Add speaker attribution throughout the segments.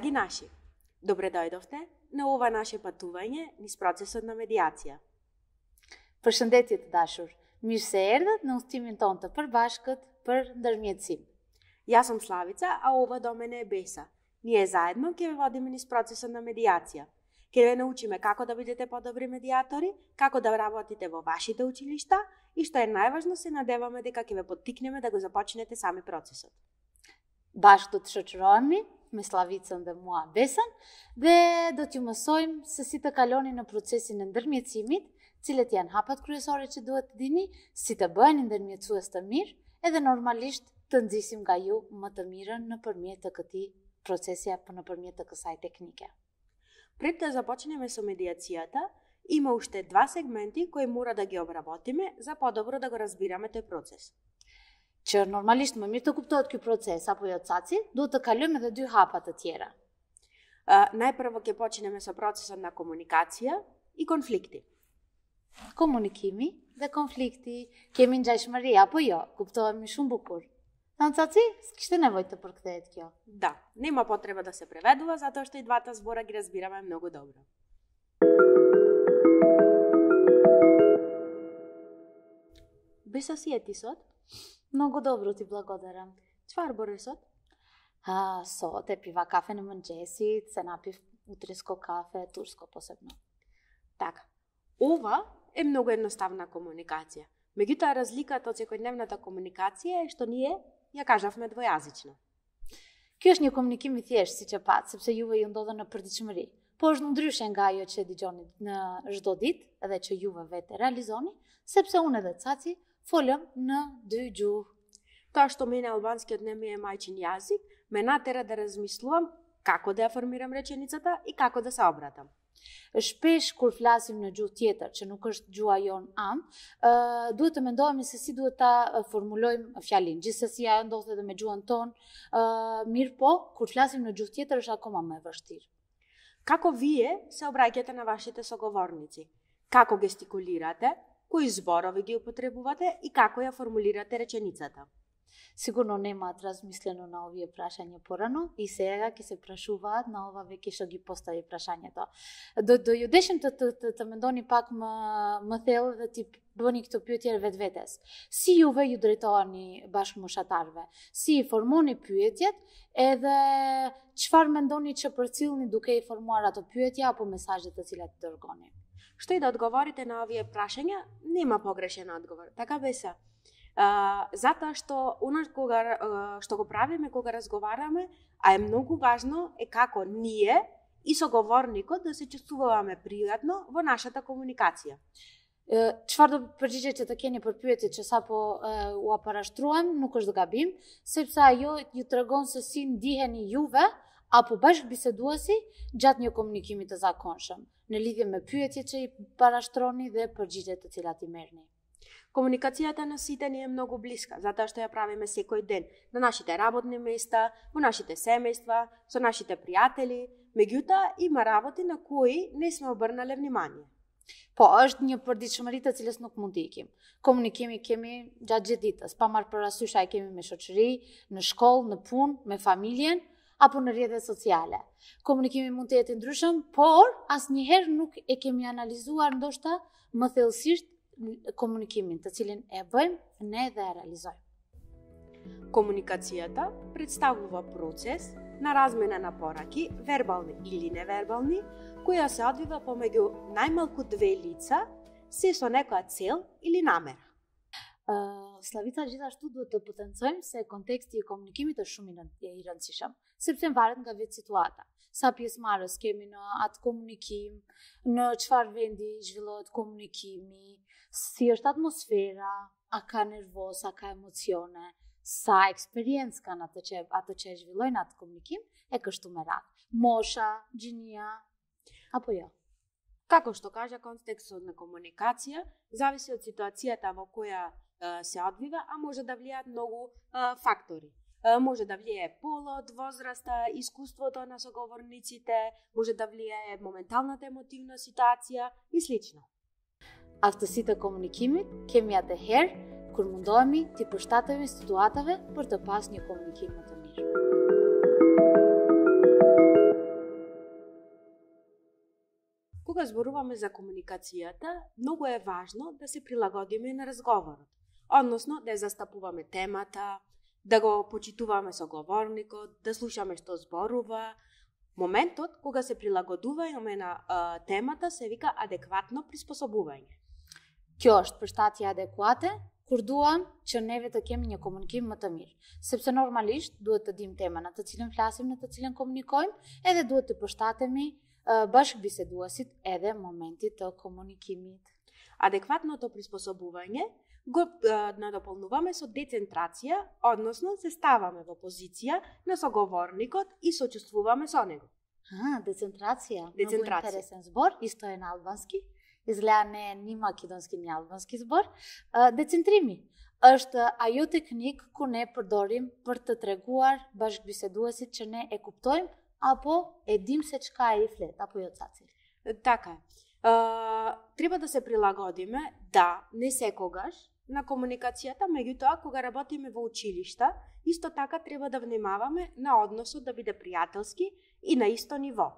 Speaker 1: Драги наши, добре дојдовте на ова наше патување низ процесот на медиација.
Speaker 2: Përshëndetje dashur, mirë se erdhët në udhëtimin tonë të përbashkët për ndërmjetësim.
Speaker 1: Јас сум Славица, а ова до мене е Беса. Ние заедно ќе ве водиме низ процесот на медиација. Ќе ве научиме како да бидете подобри медиатори, како да работите во вашите училишта и што е најважно, се надеваме дека ќе ве поттикнеме да го започнете сами процесот.
Speaker 2: Bashkë do të shoqërohemi me Slavicën dhe mua Besën dhe do t'ju mësojmë se si të kaloni në procesin e ndërmjetësimit, cilët janë hapat kryesore që duhet të dini, si të bëheni ndërmjetësues të mirë, edhe normalisht të nxisim nga ju më të mirën nëpërmjet të këtij procesi apo nëpërmjet të kësaj teknike.
Speaker 1: Пред да започнеме со медиацијата, има уште два сегменти кои мора да ги обработиме за подобро да го разбираме тој процес.
Speaker 2: Që normalisht më mirë të kuptohet ky proces apo jo caci, duhet të kalojmë edhe dy hapa të tjera.
Speaker 1: Најпрво ќе почнеме со процесот на комуникација и конфликти.
Speaker 2: Komunikimi dhe konflikti, kemi ngjashmëri apo jo, kuptohemi shumë bukur. Tanë caci, s'kishte nevojë të përkthehet kjo.
Speaker 1: Да, нема потреба да се преведува, затоа што и двата збора ги разбираме многу добро. Беса си е ти сот?
Speaker 2: Mnogo dobro ti благодарам.
Speaker 1: Çfarë bëre sot?
Speaker 2: Sot e piva kafe në mëngjesit, se na pив utrisko kafe, tursko posebno.
Speaker 1: Така. Ова е многу едноставна комуникација. Меѓутоа разликата од секојдневната комуникација е што ние ја кажавме двојазично.
Speaker 2: Ky është një komunikim I thjeshtë siç e pat, sepse juve ju ndodhen në përditshmëri. Po është ndryshe nga ajo që dëgjoni në çdo ditë, edhe që juve vetë realizoni, sepse unë edhe caci folëm në dy gjuhë.
Speaker 1: Тоа што мене албанскиот не ми е мајчин јазик, ме натера да размислувам како да ја формирам реченицата и како да се обратам.
Speaker 2: Shpesh kur flasim në gjuhë tjetër, që nuk është gjuha jon am, duhet të mendohemi se si duhet ta formulojmë fjalinë. Gjithsesi ajo ndodhet edhe me gjuhën tonë, mirë po, kur flasim në gjuhë tjetër është akoma më e vështirë.
Speaker 1: Како вие се обраќате на вашите соговорници? Како гестикулирате? Кои зборови ги употребувате и како ја формулирате реченицата?
Speaker 2: Sigurno nema razmisleno na ovие прашања порано и сега ќе се прашуваат на ова веќе што ги постави прашањето. Do ju deshim të mendoni pak më thellë dhe ti bëni këto pyetje vetvetes. Si juve ju drejtoheni bashkëmoshatarëve? Si I formoni pyetjet edhe çfarë mendoni që përcillni duke I formuar ato pyetje apo mesazhet të cilat I dërgoni?
Speaker 1: Што и да одговорите на овие прашања, нема погрешен одговор. Така Беса. Затоа што што го правиме кога разговараме, а е многу важно е како ние и соговорникот да се чувствуваме пријатно во нашата комуникација.
Speaker 2: Çfarë do përgjigjet që të keni për pyetjet që sapo u parashtruam nuk është gabim, sepse ajo ju tregon se si ndiheni juve apo bashkëbiseduesi gjatë një komunikimi të zakonshëm, në lidhje me pyetjet që I parashtroni dhe përgjigjet të cilat I merrni.
Speaker 1: Комуникацијата на сите ни е многу блиска, затоа што ја правиме секој ден на нашите работни места, во нашите семејства, со нашите пријатели, меѓутоа има работи на кои не сме обрнале внимание.
Speaker 2: Po, është një përditshmëri të cilës nuk mund të ikim. Komunikimi kemi gjatë gjithë ditës, pa marrë parasysh ai kemi me shoqëri, në shkollë, në punë, me familjen apo në rrjetet sociale. Komunikimi mund të jetë I ndryshëm, por asnjëherë nuk e kemi analizuar ndoshta më thellësisht komunikimin, të cilin e bëjmë ne dhe e realizojmë.
Speaker 1: Комуникацијата представува процес на размена на пораки, вербални или невербални, која се одвива помеѓу најмалку две лица, се со некоја цел или намера.
Speaker 2: Slavica gjithashtu duhet të potencojmë se konteksti I komunikimit është shumë I rëndësishëm, sepse varet nga vetë situata. Sa pjesëmarrës kemi në atë komunikim, në çfarë vendi zhvillohet komunikimi, si është atmosfera, a ka nervoz, a ka emocione, sa eksperiencë kanë ato që e zhvillojnë atë komunikim, e kështu me radhë. Mosha, gjinia, apo jo.
Speaker 1: Како што кажа, контекстот на комуникација зависи од ситуацијата во која се одвива, а може да влијаат многу фактори. Може да влијае полот, возраста, искуството на соговорниците, може да влијае моменталната емотивна ситуација и слично.
Speaker 2: Aftësitë e komunikimit kemi atëherë kur mundohemi t'i përshtatemi situatave për të pasur një komunikim më të mirë.
Speaker 1: кога зборуваме за комуникацијата, многу е важно да се прилагодиме на разговорот. Односно, да ја застапуваме темата, да го почитуваме соговорникот, да слушаме што зборува. Моментот кога се прилагодуваме на темата се вика адекватно приспособување.
Speaker 2: Кјошт пештати адеквате, курдуам që neve të kemi një komunikim më të mirë. Sepse normalisht duhet të dim temën në të cilën flasim, në të cilën komunikojmë, edhe duhet të përshtatemi bashkëbiseduesit edhe momentit të komunikimit.
Speaker 1: Адекватното приспособување го надополнуваме со децентрација, односно се ставаме во позиција на соговорникот и сочувствуваме со него.
Speaker 2: Децентрација.
Speaker 1: Децентрација.
Speaker 2: Много интересен збор, исто е на албански. Изгледа не е ни македонски, ни албански збор. Децентрими është ajo teknik ku ne përdorim për të treguar bashkëbiseduesit që ne e kuptojmë apo e dim se çka e i flet, apo jo Цаци?
Speaker 1: Така е. Треба да се прилагодиме, да, не секогаш, на комуникацијата, меѓутоа кога работиме во училишта, исто така треба да внимаваме на односот да биде пријателски и на исто ниво.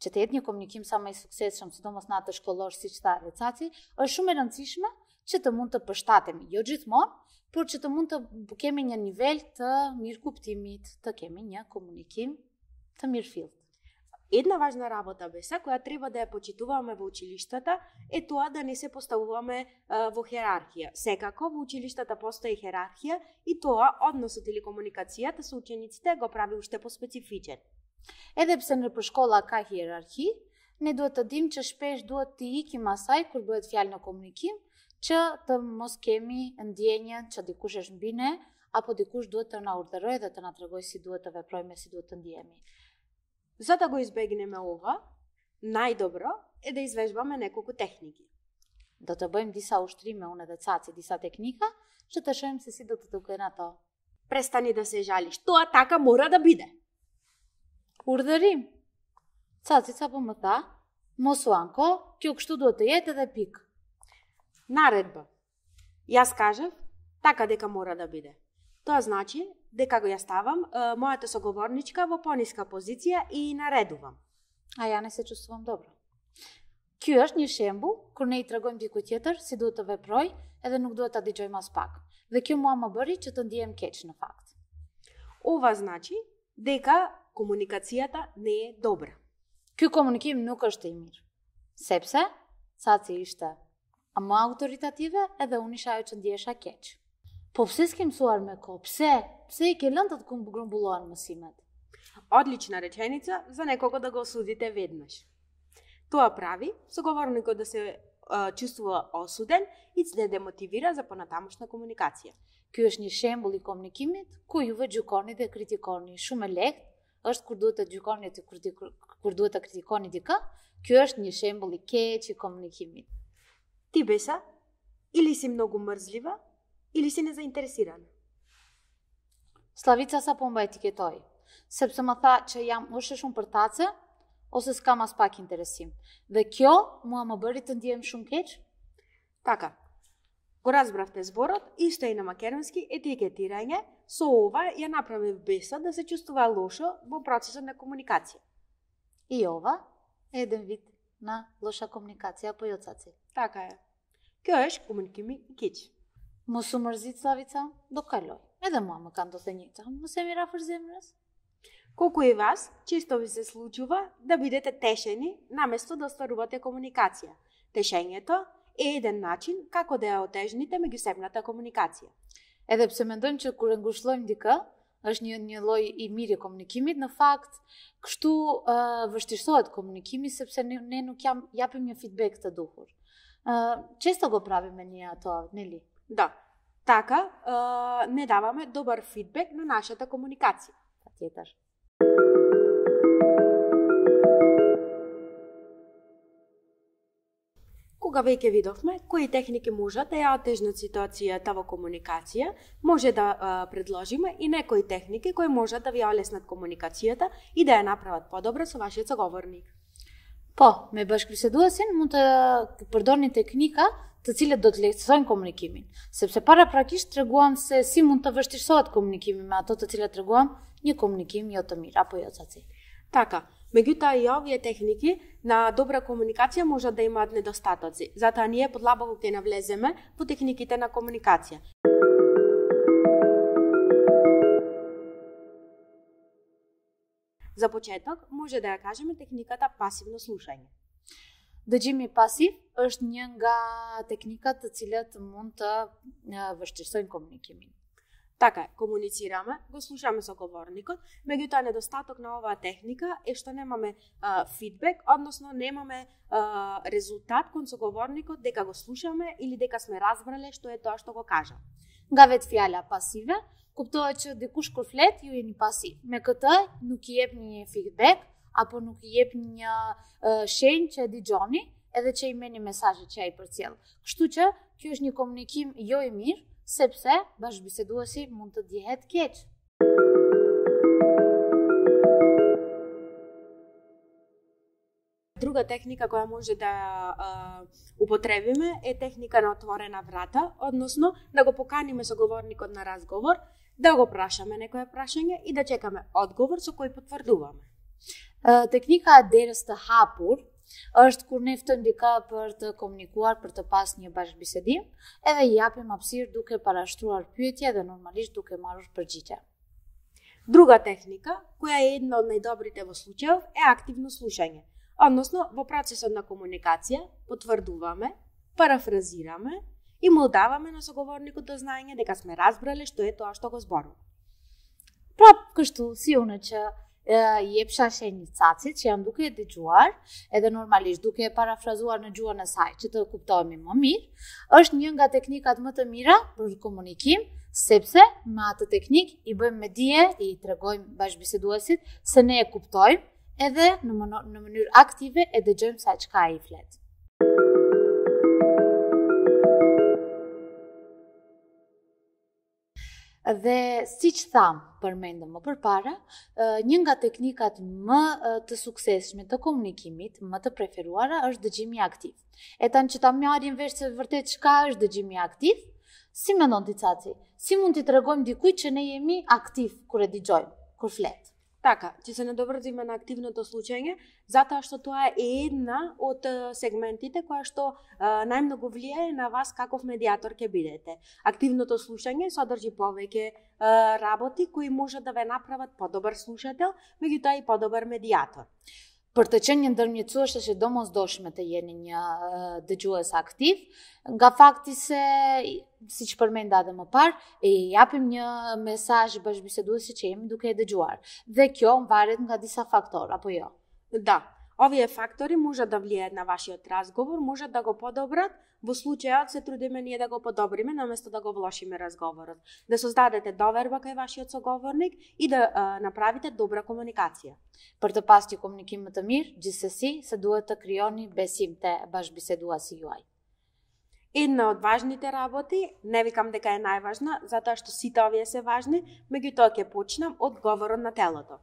Speaker 2: Që të jetë një komunikim sa më i suksesshëm, sidomos në atë shkollosh siç tha Caci, është shumë e rëndësishme që të mund të përshtatemi, jo gjithmonë, por që të mund të kemi një nivel të mirë kuptimit, të kemi një komunikim të mirëfillt.
Speaker 1: Една важна работа беса која треба да ја почитуваме во училиштата е тоа да не се поставуваме во хиерархија. Секако во училиштата постои хиерархија и тоа односот или комуникацијата со учениците го прави уште поспецифичен.
Speaker 2: Edhe pse në shkolla ka hierarki, ne duhet të dimë që shpesh duhet të ikim asaj kur bëhet fjalë në komunikim, që të mos kemi ndjenjën që dikush është mbi ne, apo dikush duhet të na urdhërojë dhe të na tregojë si duhet të veprojmë, si duhet të ndihemi.
Speaker 1: За да го избегнеме ова, најдобро е да извежбаме неколку техники.
Speaker 2: Do të bëjmë disa ushtrime, unë edhe Caci, disa teknika, që të shohim se si do të duken ato.
Speaker 1: Престани да се жалиш, тоа така мора да биде.
Speaker 2: Urdhërim. Cacica po më tha, mos u anko, kjo kështu duhet të jetë edhe pikë.
Speaker 1: Наредба. Јас кажав, така дека мора да биде. Тоа значи дека го ја ставам мојата соговорничка во пониска позиција и наредувам.
Speaker 2: А ја не се чувствувам добро. Ky është një shembull kur ne i tregojmë dikujt tjetër si duhet të veproj, edhe nuk duhet ta dëgjojmë as pak. Dhe kjo mua më bëri që të ndihem keq në fakt.
Speaker 1: Ова значи дека комуникацијата не е добра.
Speaker 2: Ky komunikim nuk është i mirë. Sepse Caci ishte më autoritative edhe unë isha ajo që ndihesha keq. Po pse s'ke mësuar me kohë? Pse i ke lënë të grumbullohen mësimet?
Speaker 1: Одлична реченица за некого да го осудите веднаш. Тоа прави соговорникот да се чувствува осуден и се демотивира за понатамошна комуникација.
Speaker 2: Ky është një shembull i komunikimit ku juve gjykoni dhe kritikoni. Shumë e lehtë është kur duhet të gjykoni dhe kur duhet të kritikoni dikë. Ky është një shembull i keq i komunikimit.
Speaker 1: Ти беса или си многу мрзлива, или си незаинтересирана.
Speaker 2: Slavica sa po më etiketoi, sepse më tha që jam ose shumë për tace, ose s'kam as pak interesim. Dhe kjo mua më bëri të ndihem shumë keq.
Speaker 1: Така, го разбравте зборот, исто и на македонски етикетирање, со ова ја направив беса да се чувствува лошо во процесот на комуникација.
Speaker 2: И ова е еден вид на лоша комуникација по Caci.
Speaker 1: Така е. Kjo është komunikimi i keq.
Speaker 2: Mos u mërzit Slavica, do kaloj. Edhe mua më kanë do të njëjta. Mos e mira për zemrës.
Speaker 1: Колку и вас, често ви се случува да бидете тешени наместо да остварувате комуникација. Тешењето е еден начин како да ја отежните меѓусебната комуникација.
Speaker 2: Edhe pse mendojmë që kur e ngushëllojmë dikë, është një lloj i mirë i komunikimit, në fakt kështu vështirësohet komunikimi sepse ne nuk japim një feedback të duhur. Често го правиме ние тоа, нели?
Speaker 1: Да. Така не даваме добар фидбек на нашата комуникација.
Speaker 2: Patjetër.
Speaker 1: Кога веќе видовме кои техники можат да ја отежнат ситуацијата во комуникација, може да предложиме и некои техники кои можат да ви олеснат комуникацијата и да ја направат подобра со вашиот соговорник.
Speaker 2: Po, me bashkëbiseduesin mund të përdorni teknika të cilët do të lehtësojnë komunikimin, sepse paraprakisht treguam se si mund të vështirësohet komunikimi me ato të cilat treguam një komunikim jo të mirë, apo jo Caci.
Speaker 1: Така, Меѓутоа и овие техники на добра комуникација можат да имаат недостатоци. Затоа ние подлабоко ќе навлеземе во техниките на комуникација. За почеток, може да ја кажеме техниката пасивно слушање.
Speaker 2: Да джими пасив është një nga teknikat të cilat mund të vështirësojnë komunikimin.
Speaker 1: Така е, комуницираме, го слушаме со говорникот, меѓутоа недостаток на оваа техника е што немаме фидбек, односно немаме резултат кон соговорникот дека го слушаме или дека сме разбрале што е тоа што го кажа.
Speaker 2: Nga vetë fjala pasive, kuptohet që dikush kur flet ju jeni pasiv. Me këtë nuk i jep një feedback apo nuk i jep një shenjë që e dëgjoni edhe që i merrni mesazhet që ai përcjell. Kështu që kjo është një komunikim jo i mirë, sepse bashkëbiseduesi mund të dihet keq.
Speaker 1: Друга техника која може да употребиме е техника на отворена врата, односно да го поканиме соговорникот на разговор, да го прашаме некое прашање и да чекаме одговор со кој потврдуваме.
Speaker 2: Teknika e derës të hapur është kur ne ftojmë dikë për të komunikuar, për të pas një bashkëbisedim, edhe i japim hapësirë duke parashtruar pyetje dhe normalisht duke marrur përgjigje.
Speaker 1: Друга техника, која е една од најдобрите во случајов, е активно слушање. Односно, во процесот на комуникација потврдуваме, парафразираме и му даваме на соговорникот до знаење дека сме разбрале што е тоа што го зборува.
Speaker 2: Prap kështu, si unë që jepsha shenjë cacit që jam duke e dëgjuar, edhe normalisht duke e parafrazuar në gjuhën e saj që të kuptohemi më mirë, është një nga teknikat më të mira për komunikim, sepse me atë teknik i bëjmë me dije, i tregojmë bashkëbiseduesit se ne e kuptojmë, edhe në mënyrë aktive e dëgjojmë sa çka ai flet. Dhe si që thamë, përmendëm më përpara, një nga teknikat më të suksesshme të komunikimit, më të preferuara, është dëgjimi aktiv. E tanë që ta marrim vesh se vërtet çka është dëgjimi aktiv, si mendon ti Caci? Si mund t'i tregojmë dikujt që ne jemi aktiv kur e dëgjojmë, kur flet?
Speaker 1: Така, ќе се надоврзиме на активното слушање, затоа што тоа е една од сегментите која што најмногу влијае на вас каков медиатор ќе бидете. Активното слушање содржи повеќе работи кои можат да ве направат подобар слушател, меѓутоа и подобар медиатор.
Speaker 2: Për të qenë një ndërmjetësues është e domosdoshme të jeni një dëgjues aktiv, nga fakti se, siç përmenda edhe më parë, e japim një mesazh bashkëbiseduesit që jemi duke e dëgjuar. Dhe kjo varet nga disa faktorë, apo jo?
Speaker 1: Да, овие фактори можат да влијаат на вашиот разговор, можат да го подобрат, во случајот се трудиме ние да го подобриме наместо да го влошиме разговорот, да создадете доверба кај вашиот соговорник и да направите добра комуникација.
Speaker 2: Për të pasur një komunikim më të mirë, gjithsesi se duhet të krijoni besim te bashkëbiseduesi juaj.
Speaker 1: Една од важните работи, не викам дека е најважна, затоа што сите овие се важни, меѓутоа ќе почнам од говорот на телото.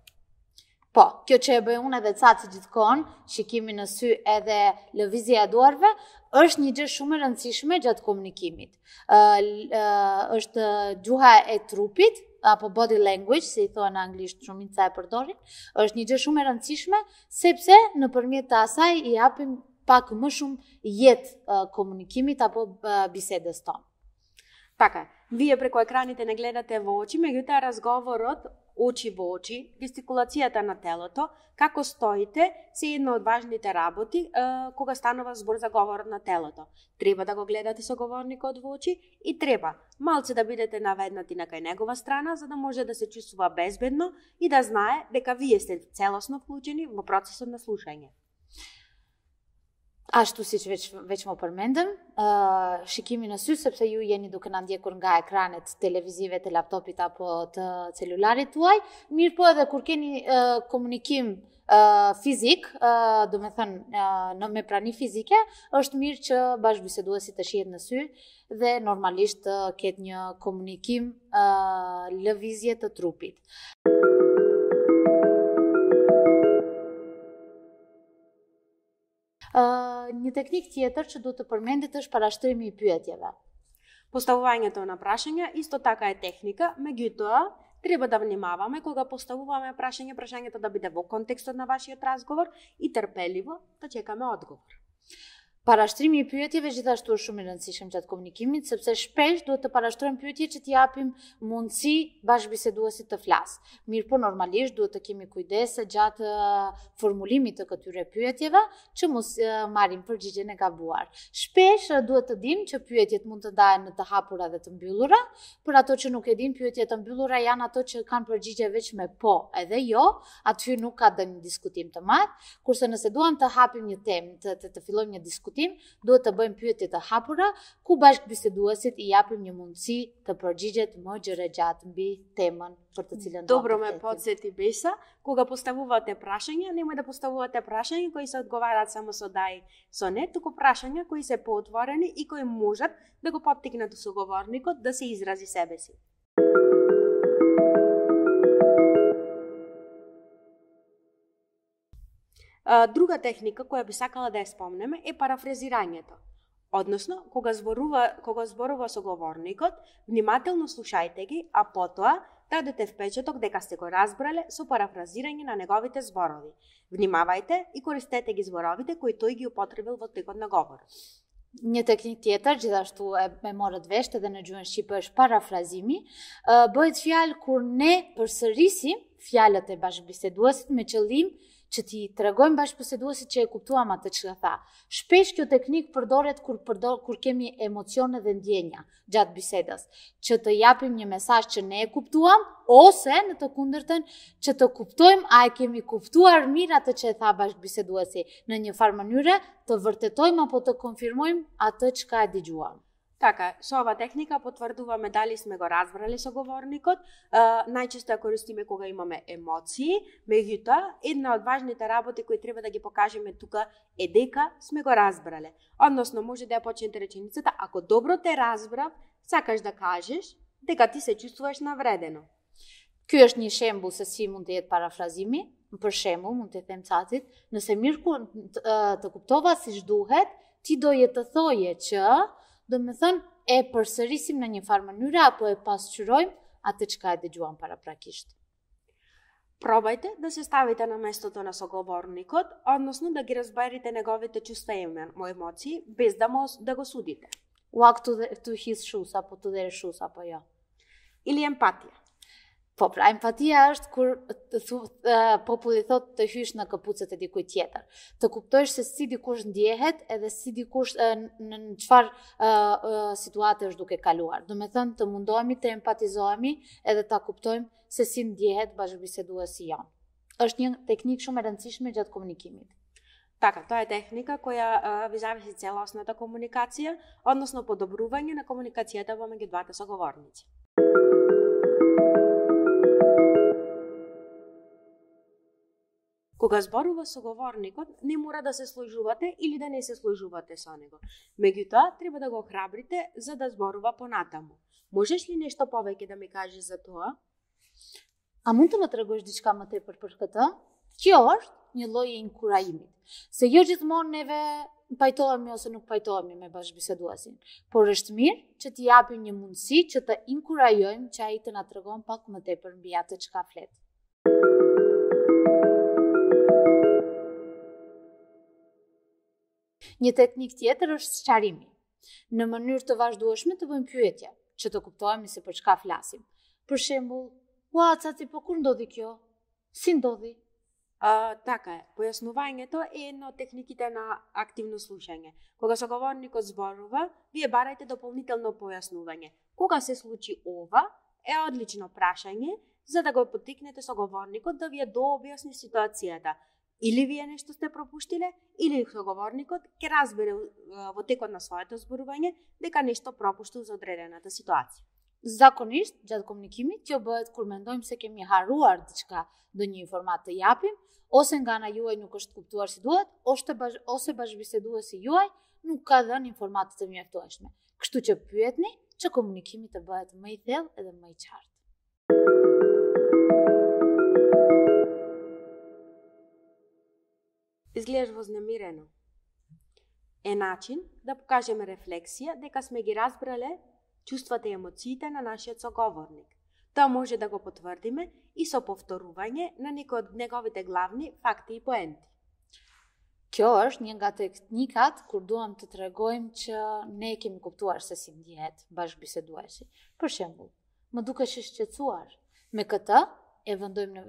Speaker 2: Po, kjo që e bëj unë edhe Caci gjithkohon, shikimi në sy edhe lëvizja e duarve, është një gjë shumë e rëndësishme gjatë komunikimit. Është gjuha e trupit, apo body language, si i thonë në anglisht, shumica e përdorin, është një gjë shumë e rëndësishme, sepse nëpërmjet të asaj i japim pak më shumë jetë komunikimit apo bisedës tonë.
Speaker 1: Така, вие преку екраните не гледате во очи, меѓутоа разговорот очи во очи, гестикулацијата на телото, како стоите, се една од важните работи кога станува збор за говорот на телото. Треба да го гледате соговорникот во очи и треба малце да бидете наведнати на кај негова страна, за да може да се чувствува безбедно и да знае дека вие сте целосно вклучени во процесот на слушање.
Speaker 2: Ashtu si që veç më përmendëm, shikimi në sy, sepse ju jeni duke na ndjekur nga ekranet televizive të laptopit apo të celularit tuaj, mirë po edhe kur keni komunikim fizik, do me thënë me prani fizike, është mirë që bashkëbiseduesi të shihet në sy dhe normalisht të ketë një komunikim lëvizje të trupit. Një teknik tjetër që duhet të përmendet është parashtrimi I pyetjeve.
Speaker 1: Поставувањето на прашања исто така е техника, меѓутоа треба да внимаваме кога поставуваме прашањето да биде во контекстот на вашиот разговор и трпеливо да чекаме одговор.
Speaker 2: Параштрimi i pyetjeve gjithashtu është shumë e rëndësishme gjatë komunikimit, sepse shpesh duhet të parashtrojmë pyetje që t'i japim mundësi bashkëbiseduesit të flasë. Mirë po normalisht duhet të kemi kujdese gjatë formulimit të këtyre pyetjeve që mos marrim përgjigjen e gabuar. Shpesh duhet të dimë që pyetjet mund të ndahen në të hapura dhe të mbyllura. Për ato që nuk e dinë, pyetjet të mbyllura janë ato që kanë përgjigje veç me po edhe jo, aty nuk ka dënë diskutim të madh, kurse nëse duam të hapim një temë, të fillojmë një diskutim, duhet të bëjmë pyetje të hapura ku bashkëbiseduesit i japim një mundësi të përgjigjet më gjërgjatë mbi temën për të cilën
Speaker 1: Добро ме подсети Беса, кога поставувате прашања, немој да поставувате прашања кои се одговараат само со да и со не, туку прашања кои се поотворени и кои можат да го поттикнат соговорникот да се изрази себе си. Друга техника која би сакала да ја спомнеме е парафразирањето. Односно, кога зборува соговорникот, внимателно слушајте ги, а потоа дадете впечаток дека сте го разбрале со парафразирање на неговите зборови. Внимавајте и користете ги зборовите кои тој ги употребил во текот на говорот.
Speaker 2: Një teknik tjetër, gjithashtu e morët vesh edhe në gjuhën shqipe është parafrazimi, bëhet fjalë kur ne përsërisim fjalët e bashkëbiseduesit me qëllim që ti tregojmë bashkëbiseduesit që e kuptuam atë që tha. Shpesh kjo teknik përdoret kur kemi emocione dhe ndjenja gjatë bisedës, që të japim një mesazh që ne e kuptuam ose në të kundërtën që të kuptojmë a e kemi kuptuar mirë atë që e tha bashkëbiseduesi, në një farë mënyre të vërtetojmë apo të konfirmojmë atë çka e dëgjuam.
Speaker 1: Така, со ова техника потврдуваме дали сме го разбрали соговорникот. Најчесто ја користиме кога имаме емоции, меѓутоа една од важните работи кои треба да ги покажеме тука е дека сме го разбрале. Односно, може да ја почнете реченицата: ако добро те разбрав, сакаш да кажеш дека ти се чувствуваш навредено.
Speaker 2: Ky është një shembull se si mund të jetë parafrazimi. Për shembull, mund të them cacit, nëse mirë të kuptova siç duhet, ti doje të thoje që, do me thënë, e përsërisim në një farë mënyre apo e pasqyrojmë atë çka e dëgjuam paraprakisht.
Speaker 1: Пробајте да се ставите на местото на соговорникот, односно да ги разберете неговите чувства и емоции, без да го судите.
Speaker 2: Ua këtu his shus, apo të dhere shus, apo jo.
Speaker 1: Или емпатија.
Speaker 2: Po, pra, empatia është kur populli thot të hysh në këpucët e dikujt tjetër. Të kuptojsh se si dikush ndjehet edhe si dikush në çfarë situate është duke kaluar. Do me thënë të mundohemi të empatizohemi edhe ta kuptojmë se si ndjehet bashkëbiseduesi jon. Është një teknikë shumë e rëndësishme gjatë komunikimit.
Speaker 1: Така, тоа е техника која ви зависи целосната комуникација, односно подобрување на комуникацијата помеѓу двата соговорници. Кога зборува соговорникот, не мора да се сложувате или да не се сложувате со него. Меѓутоа, треба да го охрабрите за да зборува понатаму. Можеш ли нешто повеќе да ми кажеш за тоа?
Speaker 2: A mund të më tregosh diçka më tepër për këtë? Kjo është një lloj i inkurajimit. Se jo gjithmonë neve pajtohemi ose nuk pajtohemi me bashkëbiseduesin, por është mirë që t'i japim një mundësi që të inkurajojmë që ai të na tregon pak më tepër mbi atë çka flet. Një teknik tjetër është sqarimi. Në mënyrë të vazhdueshme të bëjmë pyetje, që të kuptojmë se për çka flasim. Për shembull, ua, caci, po kur ndodhi kjo? Si ndodhi?
Speaker 1: Така е, појаснувањето е една од техниките на активно слушање. Кога соговорникот зборува, вие барајте дополнително појаснување. Кога се случи ова, е одлично прашање за да го поттикнете соговорникот да вие дообјасни ситуацијата. Или вие нешто сте пропуштиле, или соговорникот ќе разбере во текот на своето зборување дека нешто пропуштил за одредената ситуација.
Speaker 2: Zakonisht, gjatë komunikimit, kjo bëhet kur mendojmë se kemi haruar diçka, ndonjë informatë të japim, ose nga ana juaj nuk është kuptuar si duhet, ose bashkëbiseduesi juaj nuk ka dhënë informatë të mjaftueshme. Kështu që pyetni që komunikimi të bëhet më i thellë edhe më i qartë.
Speaker 1: Изгледаш вознемирено. Е начин да покажеме рефлексија дека сме ги разбрале чувствата и емоциите на нашиот соговорник. Тоа може да го потврдиме и со повторување на некои од неговите главни факти и поенти.
Speaker 2: Kjo është një nga teknikat kur duam të tregojmë që ne kemi kuptuar se si ndihet bashkëbiseduesi. Për shembull, më dukesh i shqetësuar. Me këtë e vendojmë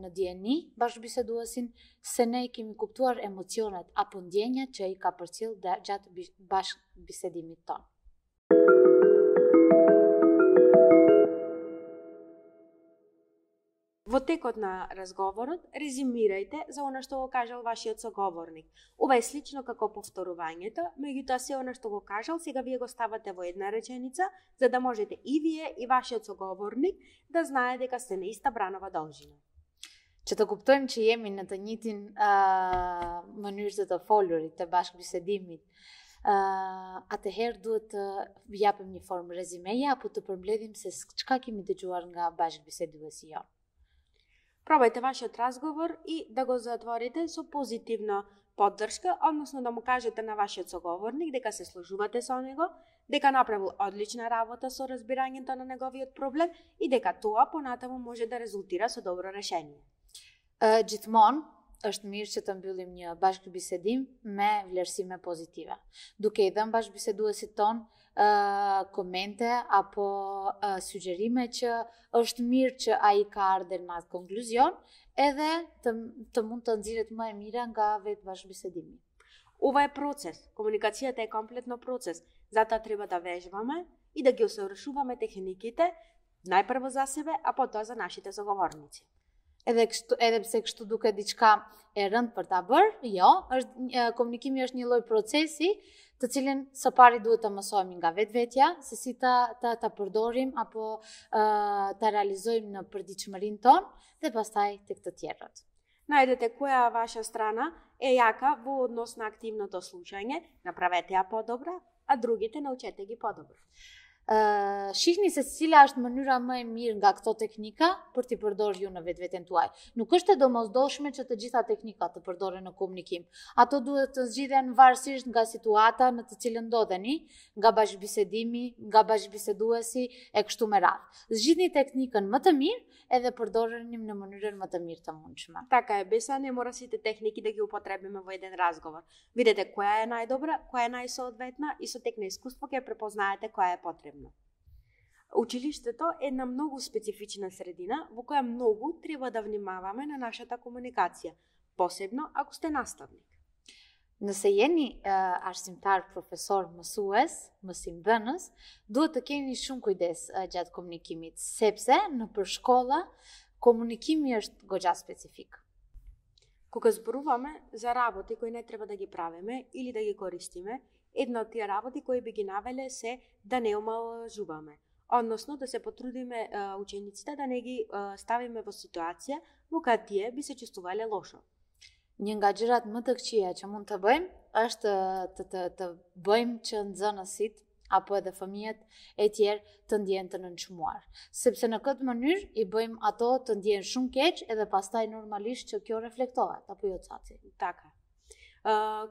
Speaker 2: në dieni bashkëbiseduesin se ne kemi kuptuar emocionet apo ndjenjat që i ka përcjell gjatë bashkëbisedimit tonë.
Speaker 1: Во текот на разговорот, резимирајте за она што го кажал вашиот соговорник. Ова е слично како повторувањето, меѓутоа се она што го кажал, сега вие го ставате во една реченица, за да можете и вие и вашиот соговорник да знае дека сте на иста бранова должина.
Speaker 2: Që të kuptojmë që jemi në të njëjtin mënyrë të folurit, të bashkëbisedimit, atëherë duhet të japim një formë rezimeje apo të përmbledhim se çka kemi dëgjuar nga bashkëbiseduesi jonë.
Speaker 1: Пробајте вашиот разговор и да го затворите со позитивна поддршка, односно да му кажете на вашиот соговорник дека се сложувате со него, дека направил одлична работа со разбирањето на неговиот проблем и дека тоа понатаму може да резултира со добро решение.
Speaker 2: Gjithmonë është mirë që të mbyllim një bashkëbisedim me vlerësime pozitive. Duke i dhënë bashkëbiseduesit ton komente apo sugjerime që është mirë që ai ka ardhur në atë konkluzion, edhe të mund të nxirret më e mira nga vetë bashkëbisedimi.
Speaker 1: Ова е процес. Комуникацијата е комплетно процес. Затоа треба да вежбаме и да ги усовршуваме техниките најпрво за себе, а потоа за нашите соговорници.
Speaker 2: Edhe pse kështu duket diçka e rëndë për ta bërë, jo, komunikimi është një lloj procesi, të cilin së pari duhet të mësojmë nga vetvetja, se si ta përdorim apo ta realizojmë në përditshmërinë tonë dhe pastaj tek të tjerët.
Speaker 1: Најдете која ваша страна е јака во однос на активното слушање, направете ја подобра, а другите научете ги подобро.
Speaker 2: Shihni se cila është mënyra më e mirë nga këto teknika për t'i përdorur ju në vetveten tuaj. Nuk është e domosdoshme që të gjitha teknikat të përdoren në komunikim. Ato duhet të zgjidhen varësisht nga situata në të cilën ndodheni, nga bashkëbisedimi, nga bashkëbiseduesi e kështu me radhë. Zgjidhni teknikën më të mirë edhe përdoreni në mënyrën më të mirë të mundshme.
Speaker 1: Така е, без не мора сите техники да ги употребиме во еден разговор. Видете која е најдобра, која е најсоодветна и со тек на искуство ќе препознаете која е потребна. Училиштето е една многу специфична средина во која многу треба да внимаваме на нашата комуникација, посебно ако сте наставник.
Speaker 2: Nëse jeni arsimtar, profesor, mësues, mësimdhënës, duhet të keni shumë kujdes gjatë komunikimit, sepse në përshkolla komunikimi është goxha specifik.
Speaker 1: Кога зборуваме за работи кои не треба да ги правиме или да ги користиме, една од тие работи кои би ги навеле се да не омалжуваме, односно да се потрудиме учениците да не ги ставиме во ситуација во која тие би се чувствувале лошо.
Speaker 2: Një nga gjërat më të këqija që mund të bëjmë është të bëjmë që nxënësit apo edhe fëmijët e tjerë të ndjehen të nënçmuar, sepse në këtë mënyrë i bëjmë ato të ndjehen shumë keq edhe pastaj normalisht që kjo reflektohet, apo jo Caci?
Speaker 1: Така.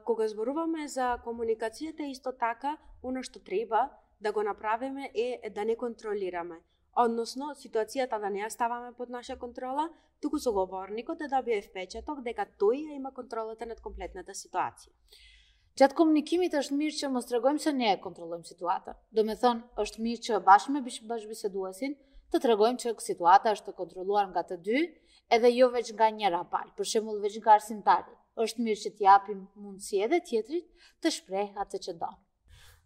Speaker 1: Кога зборуваме за комуникацијата, исто така, оно што треба да го направиме е да не контролираме. Односно, ситуацијата да не ја ставаме под наша контрола, туку соговорникот да добие впечаток дека тој има контролата над комплетната ситуација.
Speaker 2: Gjatë komunikimit është mirë që mos tregojmë se ne e kontrollojmë situatën. Do me thonë, është mirë që bashkë me bashkëbiseduesin të tregojmë që situata është të kontrolluar nga të dy, edhe jo veç nga njëra palë, për shembull veç nga arsimtari. Është mirë që t'japim mundësi edhe tjetrit të shpreh atë që don.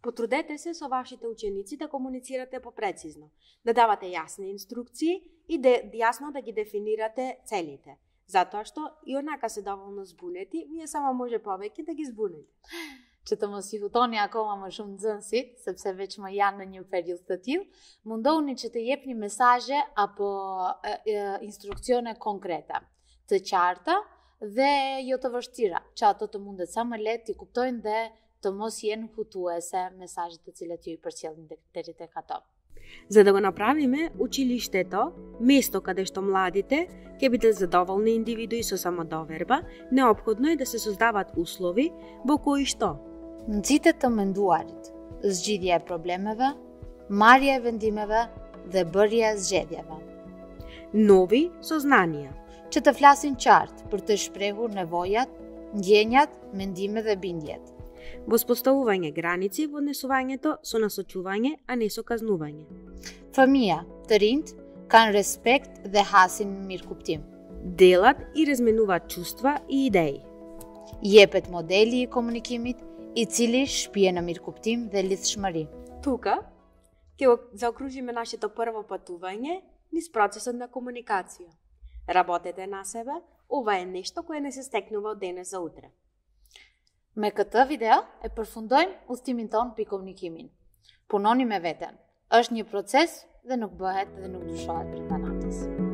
Speaker 1: Потрудете се со вашите ученици да комуницирате попрецизно, да давате јасни инструкции и јасно да ги дефинирате целите. Затоа што и онака се доволно збунети, вие само може повеќе да ги збунете.
Speaker 2: Që të mos i hutoni akoma më shumë nxënësit, sepse veç më janë në një periudhë të tillë, mundohuni që të jepni mesazhe apo instruksione konkrete, të qarta dhe jo të vështira, që ato të mundet sa më lehtë t'i kuptojnë dhe të mos jenë hutuese mesazhet të cilat ju i përcjellin deri tek ato.
Speaker 1: За да го направиме училиштето место каде што младите ќе бидат задоволни индивидуи со самодоверба, неопходно е да се создаваат услови во кои што
Speaker 2: нxite të menduarit, zgjidhja e problemeve, marrja e vendimeve dhe bërja e zgjedhjeve.
Speaker 1: нови сознанија.
Speaker 2: Që të flasin qartë për të shprehur nevojat, ndjenjat, mendimet dhe bindjet.
Speaker 1: Воспоставување граници во однесувањето со насочување, а не со казнување.
Speaker 2: Fëmia, të rinjt, kanë respekt dhe hasin mirëkuptim.
Speaker 1: Делат и разменуваат чувства и идеи.
Speaker 2: Jepet modeli i komunikimit, i cili shpije në mirëkuptim dhe lidhshmëri.
Speaker 1: Тука ќе заокружиме нашето прво патување низ процесот на комуникација. Работете на себе, ова е нешто кое не се стекнува од денес за утре.
Speaker 2: Me këtë video e përfundojmë udhtimin ton për komunikimin. Punoni me veten. Është një proces dhe nuk bëhet dhe nuk ndryshohet brenda natës.